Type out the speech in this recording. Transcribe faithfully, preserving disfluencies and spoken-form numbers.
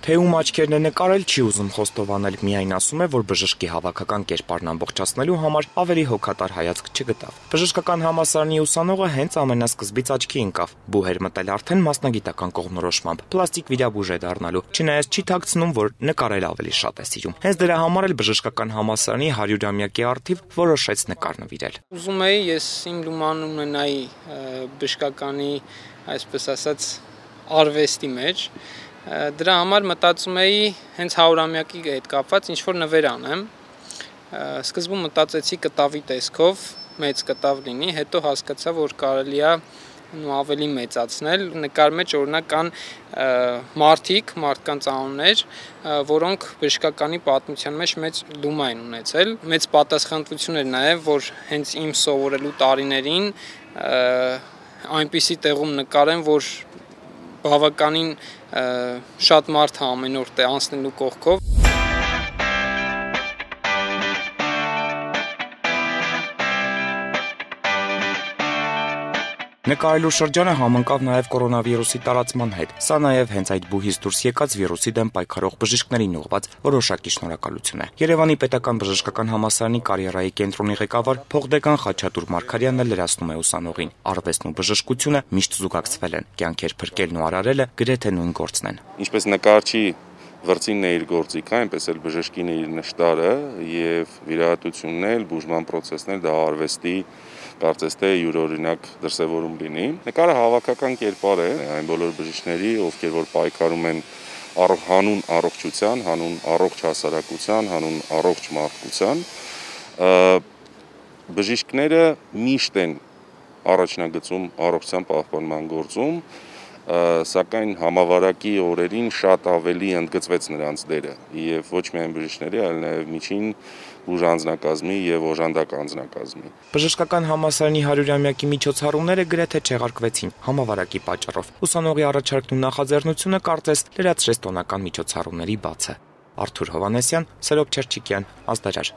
Թե ում աչքերն է նկարել, չի ուզում խոստովանել, միայն ասում է, որ բժշկի հավաքական կերպարն ամբողջացնելու համար ավելի հոգատար հայացք չգտավ։ Բժշկական համալսարանի ուսանողը հենց ամենասկզբից աչքի ընկավ, բուհ էր մտել արդեն մասնագիտական կողմնորոշմամբ, պլաստիկ վիրաբույժ է դառնալու, չնայած չի թաքցնում, որ նկարել ավելի շատ է սիրում։ Հենց դրա համար էլ բժշկական համալսարանի հարյուրամյակի առթիվ որոշեց նկար նվիրել։ Ուզում էի ես իմ լուման ունենայի բժշկականի, այսպես ասած, արվեստի մեջ։ Դրա համար մտածում էի հենց հարյուրամյակի հետ կապված ինչ-որ նվեր անեմ։ Սկզբում մտածեցի կտավի տեսքով, մեծ կտավ լինի, հետո հասկացա, որ կարելի է ավելի մեծացնել։ Նկար մեջ օրինակ կան մարդիկ, մարդկանց անուններ, որոնք բժշկականի պատմության մեջ մեծ լումա են ունեցել։ Մեծ պատասխանատվություն էր նաև, որ հենց իմ սովորելու տարիներին այնպիսի տեղում նկարեմ, որ բավականին շատ մարդ է ամեն օր անցնելու կողքով։ Նկարելու շրջանը համընկավ նաև կորոնավիրուսի տարածման հետ։ Սա նաև հենց այդ բուհից դուրս եկած վիրուսի դեմ պայքարող բժիշկներին ուղղված որոշակի շնորհակալություն է։ Երևանի պետական բժշկական համալսարանի կարիերայի կենտրոնի ղեկավար փոխդեկան Խաչատուր Մարգարյանն լրացնում է ուսանողին։ Արվեստն ու բժշկությունը միշտ զուգակցվել են։ Կյանքեր փրկելն ու արարելը գրեթե նույն գործն են։ Ինչպես նկարչի վրձինն է իր գործիքը, այնպես էլ բժշկին է իր նշտարը եւ վիրահատությունն էլ, բուժման process-ն էլ դա արվեստի կարծես թե յուրօրինակ դրսևորում լինի։ Նկարը հավաքական կերպար է այն բոլոր բժիշկների, ովքեր որ պայքարում են հանուն առողջության, հանուն առողջ հասարակության, հանուն առողջ մարդկության։ Բժիշկները միշտ են առաջնագծում առողջության պահպանման գործում, սակայն համավարակի օրերին շատ ավելի ընդգծվեց նրանց դերը եւ ոչ միայն բժիշկների, այլ նաեւ միջին բուժանձնակազմի եւ օժանդակ անձնակազմի։ Բժշկական համալսարանի հարյուրամյակի միջոցառումները գրեթե չեղարկվեցին համավարակի պատճառով։ Ուսանողի առաջարկն ու նախաձեռնությունը կարծես լրացրեց տոնական միջոցառումների բացը։ Արթուր Հովհաննեսյան, Սերոբ Չերչիկյան, Ազդարար։